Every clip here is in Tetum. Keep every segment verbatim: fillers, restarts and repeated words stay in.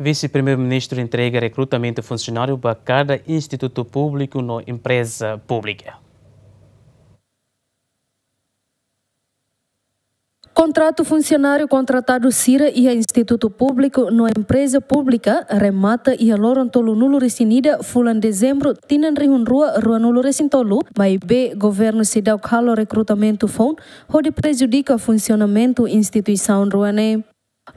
Vise-Primeiru-Ministru entrega rekrutamentu funsionáriu ba kada institutu públiku no empreza públika. Kontratu funsionáriu kontratadu sira iha institutu públiku no empreza públika remata iha loron tolunulu-resin-ida fulan Dezembru tinan rihun rua ruanulu-resin-tolu, maibé governu seidauk halo rekrutamentu foun hodi prejudika funsionamentu instituisaun rua ne'e.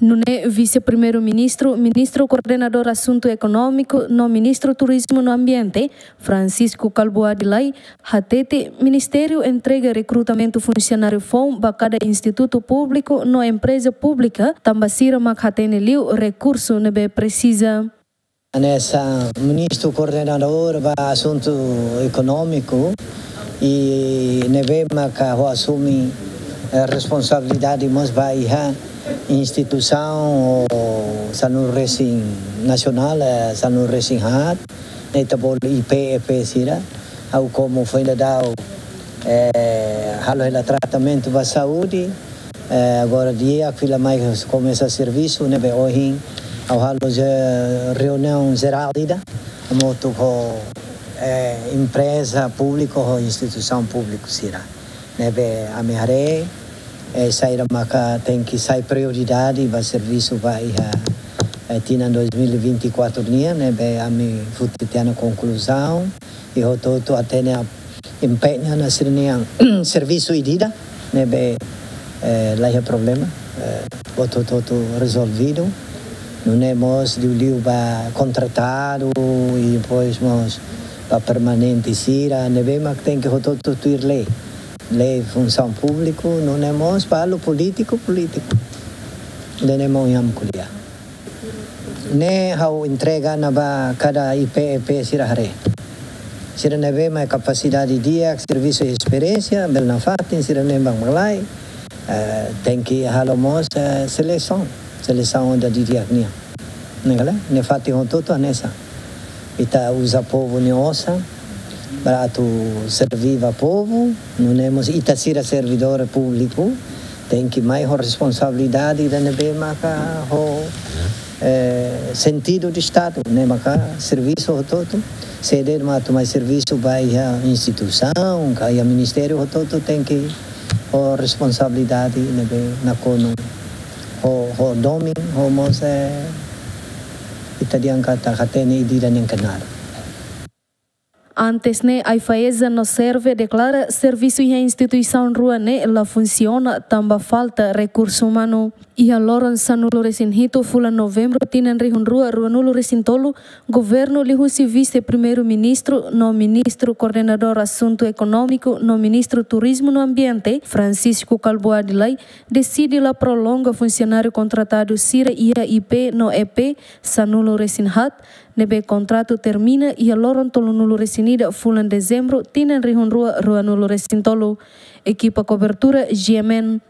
Nune'e Vise-Primeiru-Ministru, Ministru Koordenadór Asuntu Ekonómiku no Ministru Turizmu no Ambiente, Francisco Kalbuadi Lay, hatete ministériu entrega rekrutamentu funsionáriu foun ba kada institutu públiku no empreza públika, tanba sira mak hatene liu rekursu ne'ebé presiza. Hanesan Ministru Koordenadór ba Asuntu Ekonómiku, i ne'ebé maka ha'u asume, eh, responsabilidade mós ba iha instituisaun sanulu-resin nasionál, eh, sanulu-resin-haat, ne'e ita bolu I P, E P sira. Ha'u komu foin daudaun, eh, halo hela tratamentu ba saúde, eh, agora di'ak fila mai komesa servisu, ne'ebé ohin ha'u halo reuniaun jerál ida hamutuk ho, eh, empreza públiku ho instituisaun públiku sira. Ne'ebé ami haree, eh, saida maka tenke sai prioridade ba servisu ba iha, eh, tinan dois mil e vinte e quatro nian, ne'ebé ami foti tiha ona konkluzaun, i hotu-hotu hatene empeñu ona sira-nia servisu ida-idak, ne'ebé, eh, laiha problema, eh, hotu-hotu rezolvidu. Nune'e mós liuliu ba kontratadu, i depois mós ba permanente sira, ne'ebé mak tenke hotu-hotu tuir lei. Lei funsaun públiku, nune'e mós ba halo polítiku, polítiku. Ida-ne'e mak ami ko'alia. Ne'e ha'u entrega ona ba kada I P, E P sira haree. Sira ne'ebé mai kapasidade di'ak, servisu, esperiénsia, bele nafatin, sira ne'e mak mai. Eh, tenke halo mós, eh, selesaun. Selesaun ida didi'ak nian. Ne'e kala, ne'e fatin hotu-hotu hanesan. Ita uza povu nia osan para atu serve ba povu, nune'e mós ita sira servidór públiku, tenke mai ho responsabilidade ida ne'ebé maka ho, eh, sentidu de Estadu, ne'e maka servisu hotu-hotu, se de'it mak atu mai servisu ba iha instituisaun, ka iha ministériu, hotu-hotu tenke ho responsabilidade ne'ebé nakonu ho, ho domin, ho mós, eh, ita dehan katak hatene ida-idak nia knaar. Antes ne'e, AIFAESA no SERVE deklara servisu iha instituisaun rua ne'e la funsiona tanba falta rekursu umanu. Iha loron sanulu-resin-hitu fulan Novembru tinan rihun rua ruanulu-resin-tolu, governu liuhusi Vise-Primeiru-Ministru no Ministru Koordenadór Asuntu Ekonómiku no Ministru Turizmu no Ambiente, Francisco Kalbuadi Lay, deside la prolonga funsionáriu kontratadu sira iha I P no E P sanulu-resin-haat, ne'ebé kontratu termina iha loron tolunulu-resin-ida fulan Dezembru tinan rihun rua ruanulu-resin-tolu. Ekipa kobertura G M N.